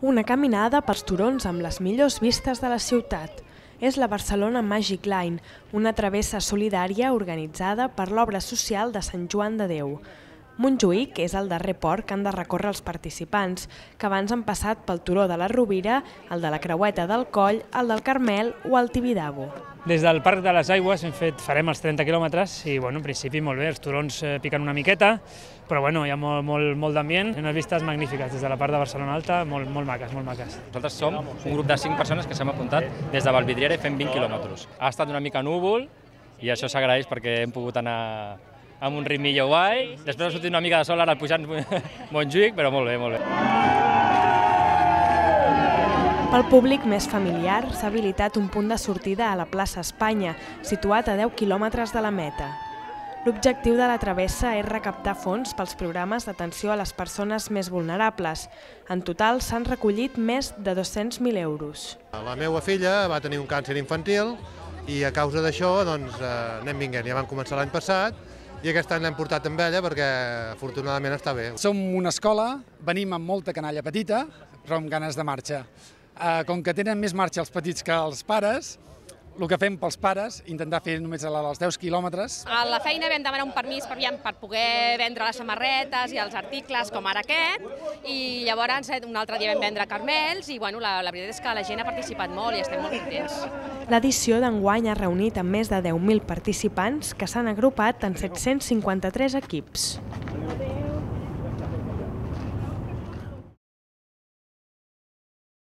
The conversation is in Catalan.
Una caminada pels turons amb les millors vistes de la ciutat. És la Barcelona Magic Line, una travessa solidària organitzada per l'obra social de Sant Joan de Déu. Montjuïc és el darrer port que han de recórrer els participants, que abans han passat pel turó de la Rovira, el de la Creueta del Coll, el del Carmel o el Tibidabo. Des del Parc de les Aigües farem els 30 quilòmetres i en principi molt bé, els turons piquen una miqueta, però hi ha molt d'ambient, unes vistes magnífiques des de la part de Barcelona Alta, molt maques, molt maques. Nosaltres som un grup de 5 persones que s'hem apuntat des de Vallvidriera i fem 20 quilòmetres. Ha estat una mica núvol i això s'agraeix perquè hem pogut anar amb un ritmillo guai. Després ha sortit una mica de sol ara pujant Montjuïc, però molt bé, molt bé. Pel públic més familiar s'ha habilitat un punt de sortida a la plaça Espanya, situat a 10 quilòmetres de la meta. L'objectiu de la travessa és recaptar fons pels programes d'atenció a les persones més vulnerables. En total s'han recollit més de 200.000 euros. La meva filla va tenir un càncer infantil i a causa d'això anem vinguent. Ja vam començar l'any passat i aquest any l'hem portat amb ella perquè afortunadament està bé. Som una escola, venim amb molta canalla petita, però amb ganes de marxa. Com que tenen més marxa els petits que els pares, el que fem pels pares, intentar fer només els 10 quilòmetres. A la feina vam demanar un permís per poder vendre les samarretes i els articles com ara aquest, i llavors un altre dia vam vendre carmels i la veritat és que la gent ha participat molt i estem molt contents. L'edició d'enguany ha reunit amb més de 10.000 participants que s'han agrupat en 753 equips.